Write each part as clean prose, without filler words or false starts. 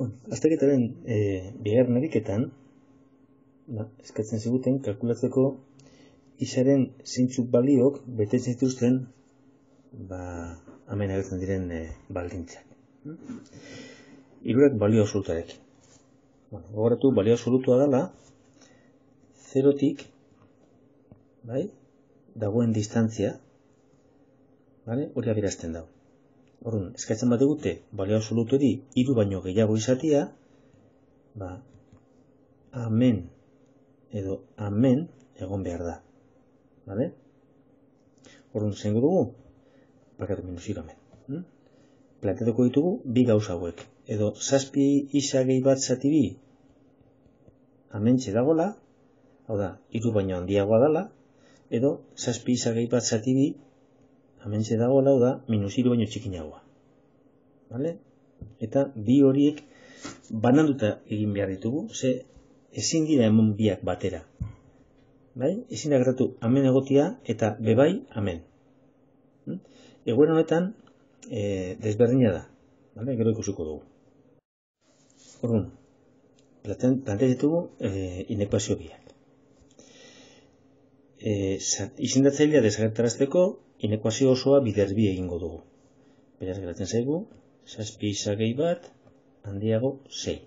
Azterketaren bigarren ariketan eskatzen ziguten kalkulatzeko isaren zeintzuk baliok betetzen zituzten hemen agertzen diren baldintzak. Hirurak balio absolutarekin. Gogoratu, balio absolutua dela zerotik dagoen distantzia, hori adierazten dago. Orduan, eskatzen bat egute, balio absolutu hori 3 baino gehiago izatea, amen edo amen egon behar da. Orduan, zengo dugu? Bakatu minus 3 amen. Planteatuko ditugu bi gauza hauek. Edo 7 isa gehi bat zati 2 amentxe dagoela, hau da, 3 baino handiagoa dela, edo 7 isa gehi bat zati 2 amentxe dagoela, hau da, minus 3 baino txikinagoa. Eta bi horiek bananduta egin behar ditugu, ze ezin dira emon biak batera. Ezin da gertatu amen egotia eta bebai amen. Egoera honetan desberdina da. Gero ikusiko dugu. Orduan, plantea ditugu inekuazio biak. Izendatzailea desagertarazteko inekuazio osoa bider bi egingo dugu. Beraz geratzen zaigu 7 isa gehi bat handiago 6.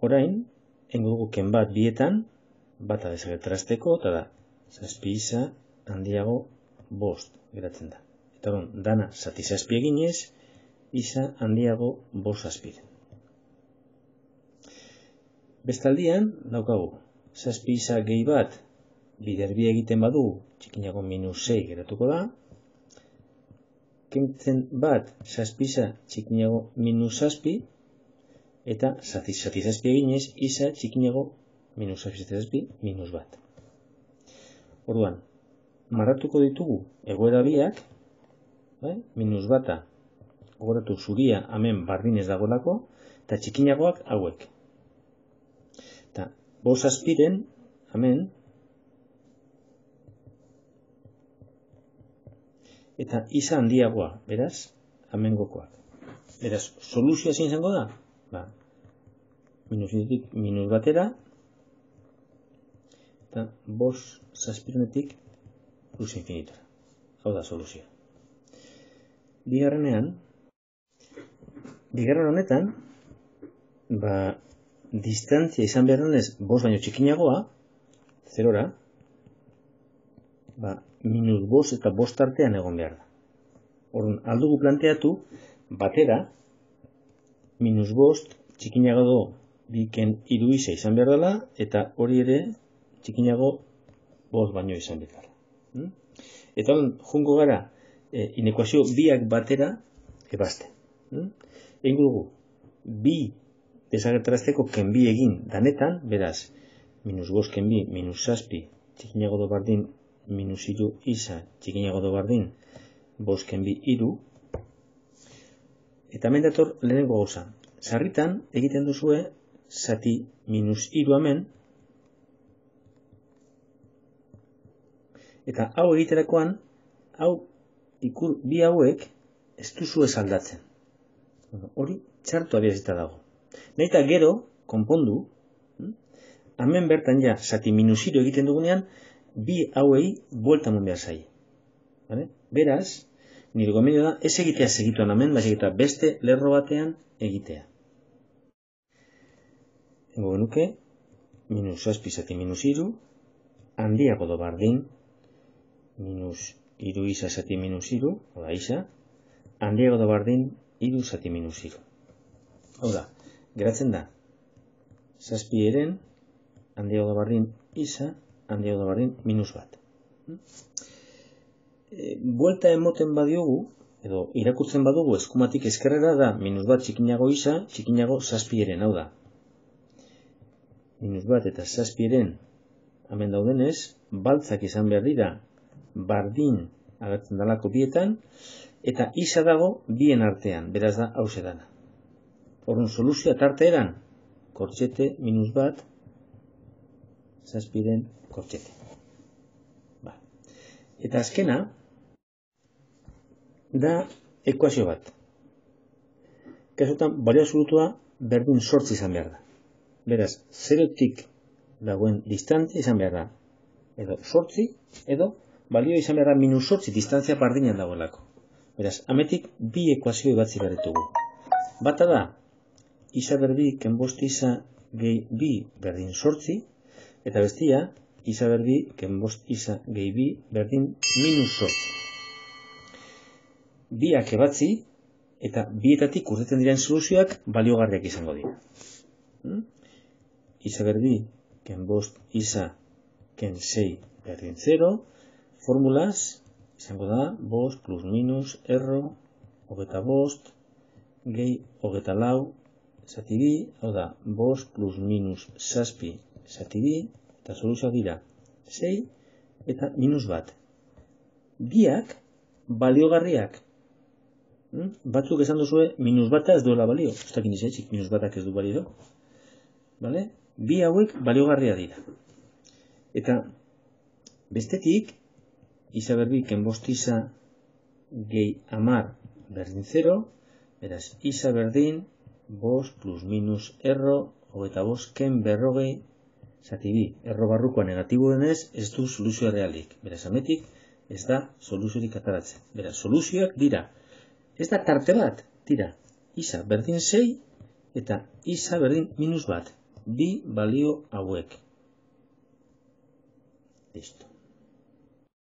Orain, egingo dugu ken bat bietan, bata desagertarazteko, eta da 7 isa handiago 5 geratzen da. Eta hori, dana zati 7 eginez, isa handiago 5 zazpiren. Bestaldian, daukagu, 7 isa gehi bat bider bi egiten badu, txikinago minus 6 geratuko da, kentzen bat 7 isa txikinago minus 7, eta zati 7 eginez, isa txikinago minus 7 minus bat. Orduan, marratuko ditugu egoera biak, minus bata, gogoratu zuria hemen bardinez dagoelako, eta txikinagoak hauek. Eta 5 zazpiren, hemen, eta isa handiagoa, beraz, hemen gokoak. Beraz, soluzioa zein izango da? Minus batera, eta 5 zazpirenetik plus infinitora. Hau da soluzioa. Bigarren honetan, distantzia izan behar denez 5 baino txikinagoa, zerora, minus 5 eta 5 tartean egon behar da. Orduan, aldugu planteatu, batera, minus 5 txikinago do biken 3 isa izan behar dela, eta hori ere txikinago 5 baino izan behar dela. Eta jungo gara, inekuazio biak batera ebazten. Egingo dugu, bi desagertarazteko ken bi egin danetan, beraz, minus 5 ken bi, minus 7, txikinago do bardin, minus 3 isa, txikinago do bardin, 5 ken bi 3, eta hemen dator lehenengo gauza. Sarritan egiten duzue zati minus 3 hemen, eta hau egiterakoan, bi hauek ez duzu ez aldatzen. Hori txartu adierazita dago. Nahi eta gero, konpondu, hemen bertan ja, zati minus 3 egiten dugunean, bi hauei buelta eman behar zaie. Beraz, nire gomendio da, ez egitea segituan hemen, baizik eta beste lerro batean egitea. Hengo genuke, minus 7 zati minus 3, handiago do bardin, minus 3 isa zati minus 3, oda isa, handiago do bardin, 3 zati minus 3. Hau da, geratzen da, 7 eren, handiago do bardin, isa, handiago do bardin, minus bat. Buelta emoten badiogu, edo irakurtzen badugu eskumatik eskerrera da, minus bat txikinago isa, txikinago 7 eren, hau da. Minus bat eta 7 eren, hemen daudenez, baltzak izan behar dira, bardin agertzen dalako bietan, eta isa dago bien artean, beraz da hause dana. Orduan soluzioa tarte eran, kortxete minus bat, 7 eren kortxete. Eta azkena, da ekuazio bat. Kasutan, balio absolutua berdin 8 izan behar da. Beraz, 0tik dagoen distantzia izan behar da. Edo 8, edo balio izan behar da -8 distantzia bardinan dagoelako. Beraz, ametik bi ekuazio batzi behar ditugu. Bata da, isa berdi kenbost isa gehi bi berdin 8, eta bestia, isa berdi kenbost isa gehi bi berdin -8. Biak ebatzi, eta bietatik urtetzen diren soluzioak baliogarriak izango dira. Isa berdi kenbost isa ken 6 berdin 0, formulaz izango da, bost plus minus erro, 25, gehi 24 zati bi, hau da, bost plus minus zazpi zati bi, eta soluzioak dira 6 eta -1. Biak baliogarriak. Batzuk esan duzue, -1 ez duela balio. Ez dakin izaitzik, -1 ez du balio. Vale? Bi hauek baliogarria dira. Eta bestetik, isa berdi kenbost isa gehi 10 berdin 0, beraz, isa berdin bost plus minus erro 25 ken berrogei zati bi. Erro barrukoa negatibo denez, ez du soluzioa realik. Beraz, ametik ez da soluziorik ataratzen. Beraz, soluzioak dira. Ez da tarte bat, dira. Isa berdin 6 eta isa berdin -1. Bi balio hauek. Listo.